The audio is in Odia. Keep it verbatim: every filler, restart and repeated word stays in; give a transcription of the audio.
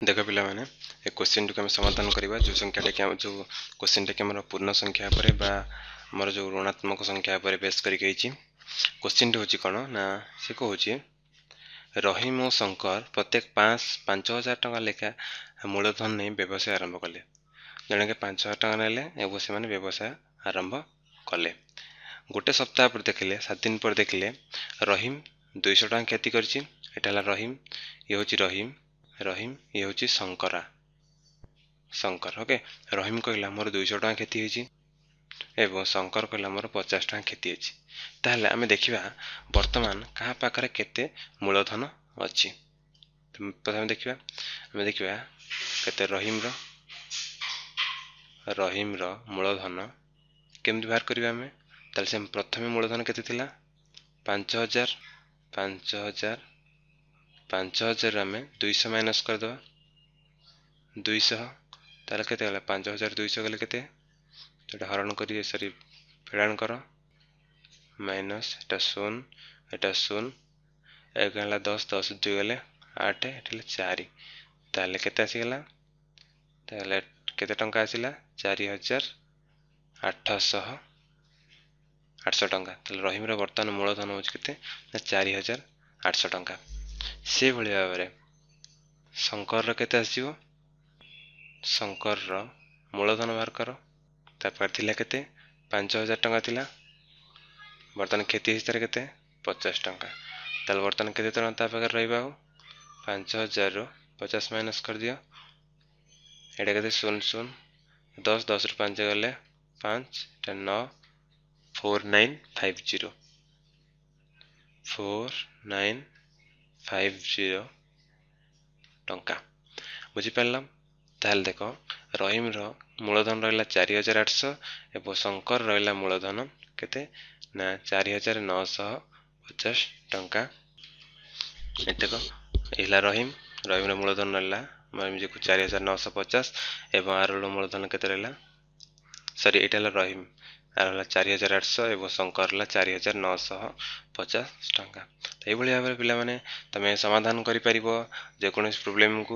ଦେଖ ପିଲାମାନେ, ଏ କୋଶ୍ଚିନ୍ଟିକୁ ଆମେ ସମାଧାନ କରିବା, ଯେଉଁ ସଂଖ୍ୟାଟା କି ଯେଉଁ କୋଶ୍ଚିନ୍ଟା କି ଆମର ପୂର୍ଣ୍ଣ ସଂଖ୍ୟା ଉପରେ ବା ଆମର ଯେଉଁ ଋଣାତ୍ମକ ସଂଖ୍ୟା ଉପରେ ବେସ୍ କରିକି ହେଇଛି। କୋଶ୍ଚିନ୍ଟି ହେଉଛି କ'ଣ ନା, ସେ କହୁଛି ରହିମ ଓ ଶଙ୍କର ପ୍ରତ୍ୟେକ ପାଞ୍ଚ ପାଞ୍ଚ ହଜାର ଟଙ୍କା ଲେଖା ମୂଳଧନ ନେଇ ବ୍ୟବସାୟ ଆରମ୍ଭ କଲେ। ଜଣକେ ପାଞ୍ଚ ହଜାର ଟଙ୍କା ନେଲେ ଏବଂ ସେମାନେ ବ୍ୟବସାୟ ଆରମ୍ଭ କଲେ। ଗୋଟେ ସପ୍ତାହ ପରେ ଦେଖିଲେ, ସାତ ଦିନ ପରେ ଦେଖିଲେ ରହିମ ଦୁଇଶହ ଟଙ୍କା କ୍ଷତି କରିଛି। ଏଇଟା ହେଲା ରହିମ, ଇଏ ହେଉଛି ରହିମ, ରହିମ, ଇଏ ହେଉଛି ଶଙ୍କରା, ଶଙ୍କର। ଓକେ, ରହିମ କହିଲା ମୋର ଦୁଇଶହ ଟଙ୍କା କ୍ଷତି ହେଇଛି ଏବଂ ଶଙ୍କର କହିଲା ମୋର ପଚାଶ ଟଙ୍କା କ୍ଷତି ହେଇଛି। ତାହେଲେ ଆମେ ଦେଖିବା ବର୍ତ୍ତମାନ କାହା ପାଖରେ କେତେ ମୂଳଧନ ଅଛି। ପ୍ରଥମେ ଦେଖିବା, ଆମେ ଦେଖିବା କେତେ ରହିମର ରହିମର ମୂଳଧନ କେମିତି ବାହାର କରିବା ଆମେ। ତାହେଲେ ସେ ପ୍ରଥମେ ମୂଳଧନ କେତେ ଥିଲା? ପାଞ୍ଚ ହଜାର। ପାଞ୍ଚ ହଜାର, ପାଞ୍ଚ ହଜାରରୁ ଆମେ ଦୁଇଶହ ମାଇନସ୍ କରିଦେବା, ଦୁଇଶହ। ତାହେଲେ କେତେ ଗଲା? ପାଞ୍ଚ ହଜାର ଦୁଇଶହ ଗଲେ କେତେ? ଏଇଟା ହରଣ କରି, ସରି, ଫେଡ଼ାଣ କର, ମାଇନସ୍, ଏଟା ଶୂନ, ଏଟା ଶୂନ, ଏକ ହେଲା ଦଶ, ଦଶ ଦୁଇ ଗଲେ ଆଠ, ଏଠି ହେଲା ଚାରି। ତାହେଲେ କେତେ ଆସିଗଲା? ତାହେଲେ କେତେ ଟଙ୍କା ଆସିଲା? ଚାରି ହଜାର ଆଠଶହ, ଆଠଶହ ଟଙ୍କା। ତାହେଲେ ରହିମର ବର୍ତ୍ତମାନ ମୂଳଧନ ହେଉଛି କେତେ ନା ଚାରି ହଜାର ଆଠଶହ ଟଙ୍କା। ସେଭଳି ଭାବରେ ଶଙ୍କରର କେତେ ଆସିଯିବ? ଶଙ୍କରର ମୂଳଧନ ବାହାର କର। ତା ପାଖରେ ଥିଲା କେତେ? ପାଞ୍ଚ ହଜାର ଟଙ୍କା ଥିଲା। ବର୍ତ୍ତମାନ କ୍ଷତି ହେଇଛି ତାର କେତେ? ପଚାଶ ଟଙ୍କା। ତାହେଲେ ବର୍ତ୍ତମାନ କେତେ ଟଙ୍କା ତା ପାଖରେ ରହିବ? ଆଉ ପାଞ୍ଚ ହଜାରରୁ ପଚାଶ ମାଇନସ୍ କରିଦିଅ। ଏଇଟା କେତେ? ଶୂନ ଶୂନ ଦଶ, ଦଶରୁ ପାଞ୍ଚ ଗଲେ ପାଞ୍ଚ, ଏଇଟା ନଅ, four nine five zero, four nine five zero ଟଙ୍କା। ବୁଝିପାରିଲ? ତାହେଲେ ଦେଖ, ରହିମର ମୂଳଧନ ରହିଲା ଚାରି ହଜାର ଆଠଶହ ଏବଂ ଶଙ୍କର ରହିଲା ମୂଳଧନ କେତେ ନା ଚାରି ହଜାର ନଅଶହ ପଚାଶ ଟଙ୍କା। ଏତକ ହେଲା ରହିମ, ରହିମର ମୂଳଧନ ରହିଲା ଚାରି ହଜାର ନଅଶହ ପଚାଶ ଏବଂ ଆର ମୂଳଧନ କେତେ ରହିଲା? ସରି, ଏଇଟା ହେଲା ରହିମ, ଆର ହେଲା ଚାରି ହଜାର ଆଠଶହ ଏବଂ ଶଙ୍କର ହେଲା ଚାରି ହଜାର ନଅଶହ ପଚାଶ ଟଙ୍କା। ତ ଏଇଭଳି ଭାବରେ ପିଲାମାନେ ତମେ ସମାଧାନ କରିପାରିବ ଯେକୌଣସି ପ୍ରୋବ୍ଲେମକୁ।